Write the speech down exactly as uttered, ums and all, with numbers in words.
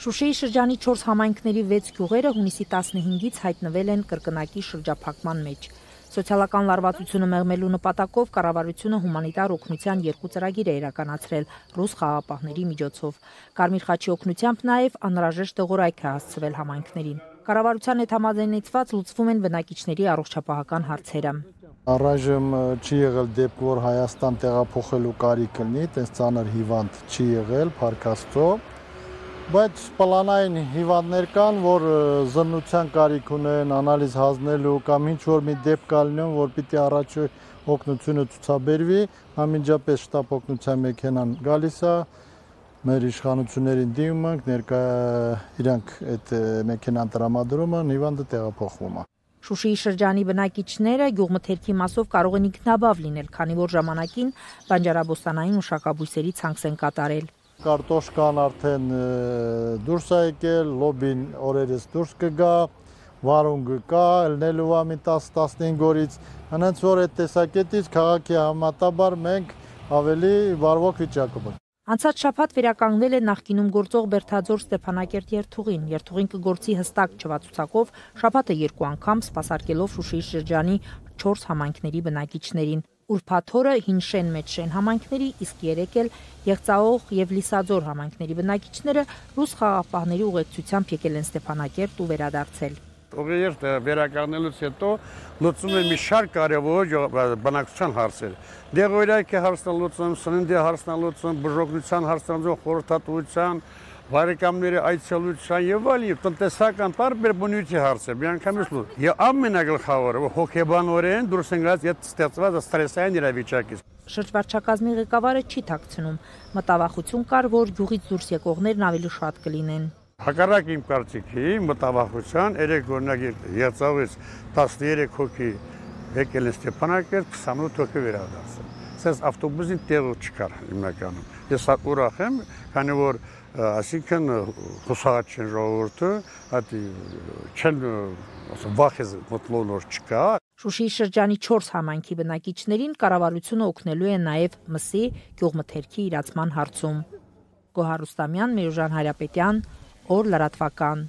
Շուշիի շրջանի չորս համայնքների վեց գյուղերը հունիսի տասնհինգից հայտնվել են կրկնակի շրջափակման մեջ։ Սոցիալական լարվածությունը մեղմելու նպատակով կառավարությունը հումանիտար օգնության երկու ծրագիր է իրականացրել ռուս խաղաղապահների միջոցով։ Կարմիր խաչի օգնությամբ նաև անհրաժեշտ դեղորայք է հասցվել համայնքներին։ Կառավարության հետ համաձայնեցված լուծվում են բնակիչների առողջապահական հարցերը։ Առայժմ չի եղել դեպք, որ Հայաստան տեղափոխելու կարիք լինի, տես ծանր հիվանդ չի եղել, փառք Աստծո, բայց պլանային հիվանդներ կան, որ զննության կարիք ունեն, անալիզ հանձնելու կամ ինչ-որ մի դեպք կա լինում, որ պիտի առաջ օգնությունը ցուցաբերվի, անմիջապես շտապ օգնության մեքենան գալիս է, մեր իշխանություններին դիմում ենք, ներկա իրանք այդ մեքենան տրամադրում են, հիվանդը տեղափոխվում է։ Շուշիի շրջանի բնակիչները գյուղմթերքի մասով կարող են ինքնաբավ լինել, քանի որ ժամանակին բանջարաբոստանային մշակաբույսերի ցանց են կատարել։ Կարտոշկան արդեն դուրս է եկել, լոբին օրերս դուրս կգա, վարունգը կա, ելնելու է մի տասը տասնհինգ օրից, հենց որ այդ տեսակետից քաղաքի համատաբար մենք ավելի վարվող վիճակում ենք։ Անցած շաբաթ վերականգնել է նախկինում գործող Բերդաձոր Ստեփանակերտ երթուղին։ Երթուղին կգործի հստակ չվացուցակով շաբաթը երկու անգամ սպասարկելով Շուշիի շրջանի չորս համայնքների բնակիչներին։ Ուրբաթ օրը Հինշեն Մեջշեն համայնքների, իսկ երեկ էլ Եղծաող եւ Լիսաձոր համայնքների բնակիչները ռուս խաղաղապահների ուղեկցությամբ եկել են Ստեփանակերտ ու վերադարձել։ Ուղերձ վերականգնելուց հետո լուծում են մի շարք կարևոր բնակչության հարցեր։ Դեղորայքի հարցն լուծում, սննդի հարցն լուծում, բուժօգնության հարցն խորհրդատվության, բարեկամների այցելության եւ այլն տնտեսական տարբեր բնույթի հարցեր։ Միանգամից լուծ։ Եվ ամենագլխավորը հոգեբանորեն դուրս են գալիս այդ ստեղծված ստրեսային իրավիճակից։ Շրջվարչակազմի ղեկավարը չի թաքցնում։ Մտավախություն կար, որ գյուղից դուրս եկողներն ավելի շատ կլինեն։ Հակառակ իմ կարծիքի մտավախության երեք օրինակ Եղծաղից տասներեք հոգի եկել են Ստեփանակերտ, քսանութ հոգի վերադարձել։ Սենց ավտոբուսին տեղը չկար հիմնականում։ Ես ուրախ եմ, քանի որ այսինքն հուսահատ չեն ժողովուրդը, այդ չեն վախեզ մտլոն որ չկա։ Շուշիի շրջանի չորս համայնքի բնակիչներին կառավարությունը օգնելու է նաև մսի գյուղմթերքի իրացման հարցում։ Գոհար Ռուստամյան, Միրուժան Հայրապետյան, Օր լրատվական։